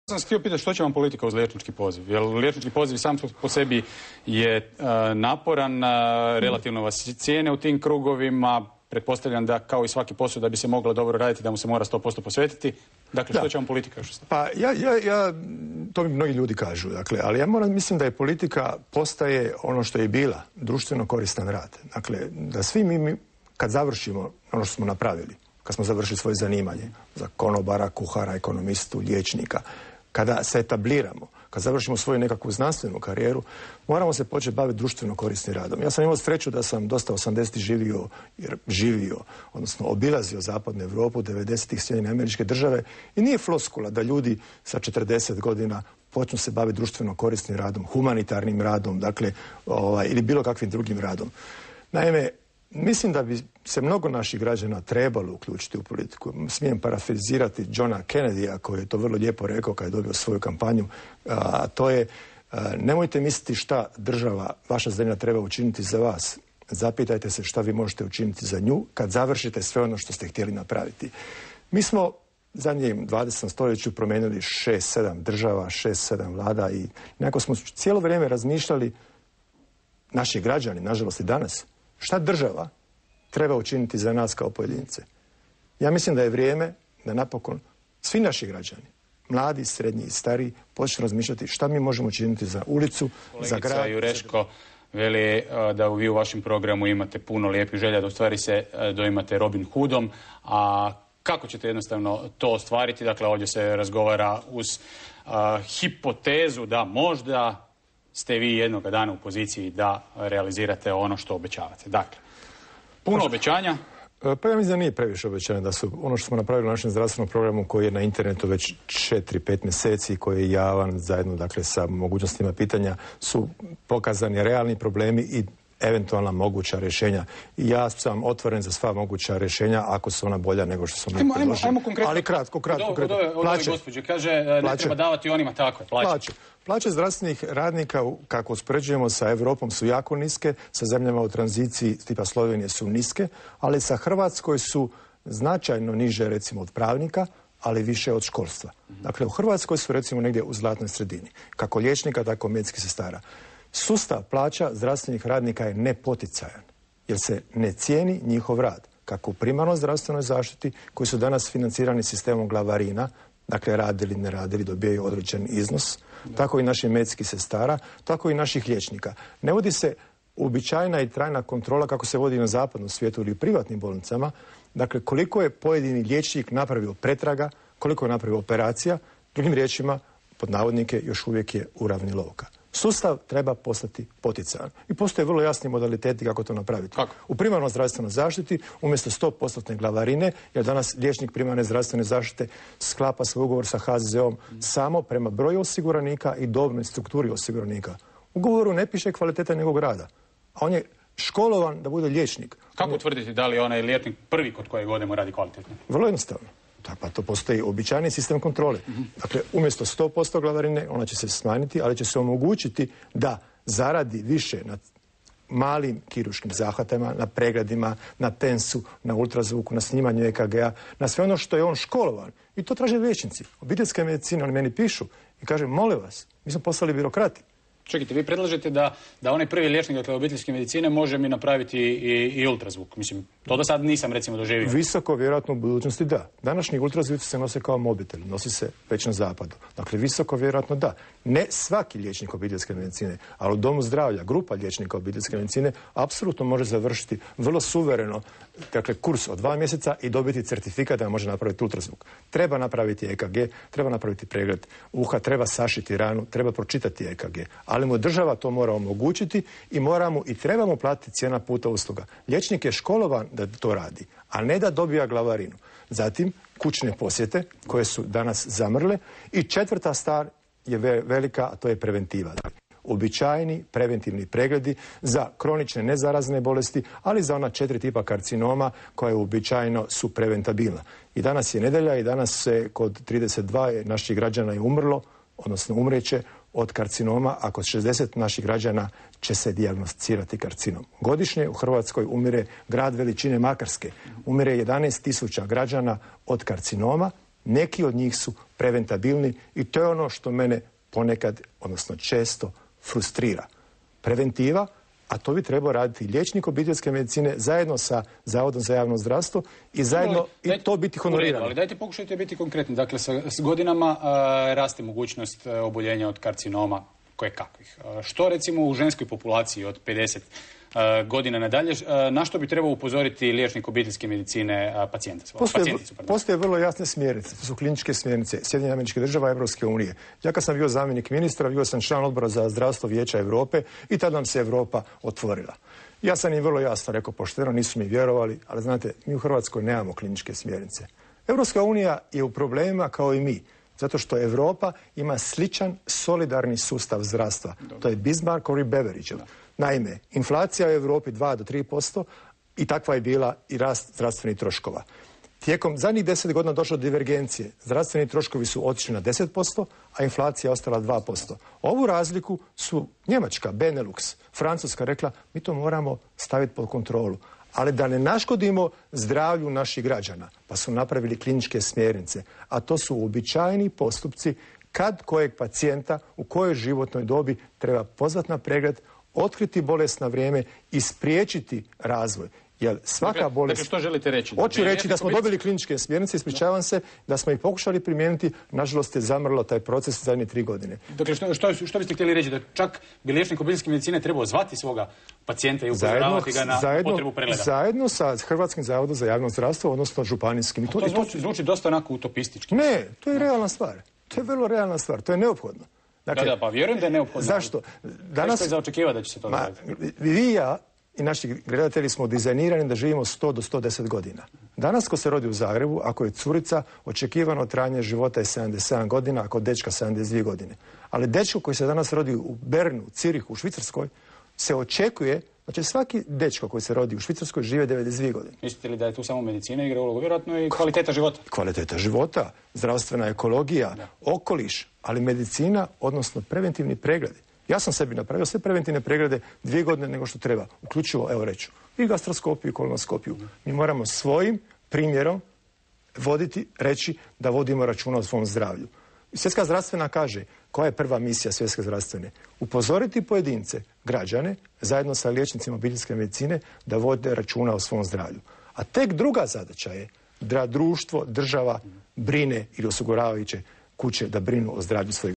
Sam htio pitati što će vam politika uz liječnički poziv, jer liječnički poziv sam po sebi je naporan, relativno vas cijene u tim krugovima, pretpostavljam da kao i svaki posao da bi se moglo dobro raditi da mu se mora 100% posvetiti. Dakle, što će vam politika još ostati? Pa to mi mnogi ljudi kažu, dakle, ali ja mislim da je politika postaje ono što je bila, društveno koristan rad. Dakle, da svi mi kad završimo ono što smo napravili, kad smo završili svoje zanimanje, za konobara, kuhara, ekonomistu, liječnika, kada se etabliramo, kad završimo svoju nekakvu znanstvenu karijeru, moramo se početi baviti društveno korisnim radom. Ja sam imao sreću da sam dosta 80-ih živio, odnosno obilazio zapadnu Europu, 90-ih Sjedinjene Američke Države i nije floskula da ljudi sa 40 godina počnu se baviti društveno korisnim radom, humanitarnim radom, dakle, ili bilo kakvim drugim radom. Naime, mislim da bi se mnogo naših građana trebalo uključiti u politiku. Smijem parafrazirati Johna Kennedya koji je to vrlo lijepo rekao kad je dobio svoju kampanju, a to je nemojte misliti šta država, vaša zemlja treba učiniti za vas. Zapitajte se šta vi možete učiniti za nju kad završite sve ono što ste htjeli napraviti. Mi smo zadnjem 20. stoljeću promijenili 6-7 država, 6-7 vlada i nekako smo cijelo vrijeme razmišljali, naši građani, nažalost i danas, šta država treba učiniti za nas kao pojedince? Ja mislim da je vrijeme da napokon svi naši građani, mladi, srednji i stariji, počnu razmišljati šta mi možemo učiniti za ulicu, za grad. Kolegica Jureško veli da vi u vašem programu imate puno lijepih želja, da u stvari se doimate Robin Hoodom, a kako ćete jednostavno to ostvariti? Dakle, ovdje se razgovara uz hipotezu da možda ste vi jednoga dana u poziciji da realizirate ono što obećavate. Dakle, puno obećanja. Pa ja mislim da nije previše obećanja, da su ono što smo napravili u našem zdravstvenom programu koji je na internetu već 4-5 mjeseci, koji je javan zajedno, dakle, sa mogućnostima pitanja, su pokazani realni problemi i eventualna moguća rješenja. I ja sam otvoren za sva moguća rješenja ako su ona bolja nego što smo mi predložili. Ajmo konkretno. Ali kratko. Plaće. Gospođe kaže ne treba davati onima takve plaće. Plaće zdravstvenih radnika, kako uspoređujemo sa Europom, su jako niske, sa zemljama u tranziciji tipa Slovenije su niske, ali sa Hrvatskoj su značajno niže, recimo, od pravnika, ali više od školstva. Dakle, u Hrvatskoj su, recimo, negdje u zlatnoj sredini. Kako liječnika, tako medicinskih sestara. Sustav plaća zdravstvenih radnika je nepoticajan, jer se ne cijeni njihov rad. Kako u primarnoj zdravstvenoj zaštiti, koji su danas financirani sistemom glavarina, dakle radili, ne radili, dobijaju određen iznos, tako i naših medicinskih sestara, tako i naših liječnika. Ne vodi se uobičajena i trajna kontrola kako se vodi na zapadnom svijetu ili u privatnim bolnicama, dakle koliko je pojedini liječnik napravio pretraga, koliko je napravio operacija, drugim riječima, pod navodnike, još uvijek je uravnilovka. Sustav treba postati poticajan. I postoje vrlo jasni modaliteti kako to napraviti. Kako? U primarnoj zdravstvenoj zaštiti umjesto 100% glavarine, jer danas liječnik primarne zdravstvene zaštite sklapa svoj ugovor sa HZZO-om samo prema broju osiguranika i dobnoj strukturi osiguranika. U ugovoru ne piše kvaliteta njegovog rada, a on je školovan da bude liječnik. Kako utvrditi da li onaj liječnik prvi kod kojeg odemo radi kvalitetno? Vrlo jednostavno. Pa to postoji običajni sistem kontrole. Dakle, umjesto 100% glavarine, ona će se smanjiti, ali će se omogućiti da zaradi više na malim kirurškim zahvatima, na pregledima, na tensu, na ultrazvuku, na snimanju EKG-a, na sve ono što je on školovan. I to traže liječnici. Obiteljske medicine, oni meni pišu i kaže, molim vas, mi smo postali birokrati. Čekajte, vi predlažete da onaj prvi liječnik, dakle, obiteljske medicine može mi napraviti i ultrazvuk. Mislim, to do sad nisam, recimo, doživio. Visoko, vjerojatno, u budućnosti da. Današnji ultrazvuci se nose kao mobitel, nosi se već na zapadu. Dakle, visoko, vjerojatno da. Ne svaki liječnik obiteljske medicine, ali u domu zdravlja, grupa liječnika obiteljske medicine apsolutno može završiti vrlo suvereno, dakle, kurs od 2 mjeseca i dobiti certifikat da može napraviti ultrazvuk. Treba napraviti EKG, treba napraviti pregled uha, treba sašiti ranu, treba pročitati EKG. Ali mu država to mora omogućiti i trebamo platiti cijena puta usluga. Liječnik je školovan da to radi, a ne da dobija glavarinu. Zatim, kućne posjete koje su danas zamrle i 4. stvar je velika, a to je preventiva. Uobičajeni preventivni pregledi za kronične nezarazne bolesti, ali za ona 4 tipa karcinoma koja uobičajeno su preventabilna. I danas je nedjelja i danas se kod 32 naših građana je umrlo, odnosno umreće od karcinoma, a kod 60 naših građana će se dijagnosticirati karcinom. Godišnje u Hrvatskoj umire grad veličine Makarske. Umire 11.000 građana od karcinoma, Neki od njih su preventabilni i to je ono što mene ponekad, odnosno često, frustrira. Preventiva, a to bi trebao raditi liječnik obiteljske medicine zajedno sa Zavodom za javno zdravstvo i zajedno i to biti honorirano. Ali dajte pokušajte biti konkretni. Dakle, s godinama raste mogućnost oboljenja od karcinoma kojekakvih. Što recimo u ženskoj populaciji od 50 godina nadalje, na što bi trebao upozoriti liječnik obiteljske medicine pacijenticu? Postoje vrlo jasne smjernice, to su kliničke smjernice Sjedinjenih Američkih Država i Europske unije. Ja kad sam bio zamjenik ministra, bio sam član odbora za zdravstvo Vijeća Europe i tada nam se Europa otvorila. Ja sam im vrlo jasno rekao, pošteno, nisu mi vjerovali, ali znate, mi u Hrvatskoj nemamo kliničke smjernice. Europska unija je u problemima kao i mi, zato što Europa ima sličan solidarni sustav zdravstva. To je Bismarckov i Beveridgeov. Naime, inflacija u Europi 2 do 3% i takva je bila i rast zdravstvenih troškova. Tijekom zadnjih 10 godina došlo do divergencije. Zdravstveni troškovi su otišli na 10%, a inflacija je ostala 2%. Ovu razliku su Njemačka, Benelux, Francuska rekla, mi to moramo staviti pod kontrolu. Ali da ne naškodimo zdravlju naših građana, pa su napravili kliničke smjernice. A to su uobičajeni postupci kad kojeg pacijenta u kojoj životnoj dobi treba pozvati na pregled, otkriti bolest na vrijeme i spriječiti razvoj. Jer svaka bolest... Dakle, što želite reći? Hoću reći da smo dobili kliničke smjernice, ispričavam se, da smo ih pokušali primijeniti, nažalost je zamrlo taj proces zadnje 3 godine. Dakle, što biste htjeli reći? Da čak bi liječnik obiteljske medicine trebao zvati svoga pacijenta i upozoravati ga na potrebu pregleda? Zajedno sa Hrvatskim zavodom za javno zdravstvo, odnosno županijskim. To zvuči dosta onako utopistički. Ne, to je realna stvar. To je vrlo realna stvar, to je neophodno. Dakle, pa vjerujem da je neophodno. Zašto? Danas je za očekivati da će se to dogoditi. Vi i ja i naši gledatelji smo dizajnirani da živimo 100 do 110 godina. Danas ko se rodi u Zagrebu, ako je curica, očekivano trajanje života je 77 godina, ako dečka 72 godine. Ali dečko koji se danas rodi u Bernu, Cirihu, u Švicarskoj, se očekuje da će svaki dečko koji se rodi u Švicarskoj žive 92 godine. Mislite li da je tu samo medicina igra ulogu? Vjerojatno i kvaliteta života? Kvaliteta života, zdravstvena ekologija, okoliš, ali medicina, odnosno preventivni pregledi. Ja sam sebi napravio sve preventivne preglede 2 godine nego što treba, uključivo, evo reću, i gastroskopiju i kolonoskopiju. Mi moramo svojim primjerom voditi, reći da vodimo računa o svom zdravlju. Svjetska zdravstvena kaže, koja je prva misija Svjetske zdravstvene? Upozoriti pojedince, građane, zajedno sa liječnicima obiteljske medicine, da vode računa o svom zdravlju. A tek druga zadaća je da društvo, država brine ili osiguravajuće kuće da brinu o zdravlju svojih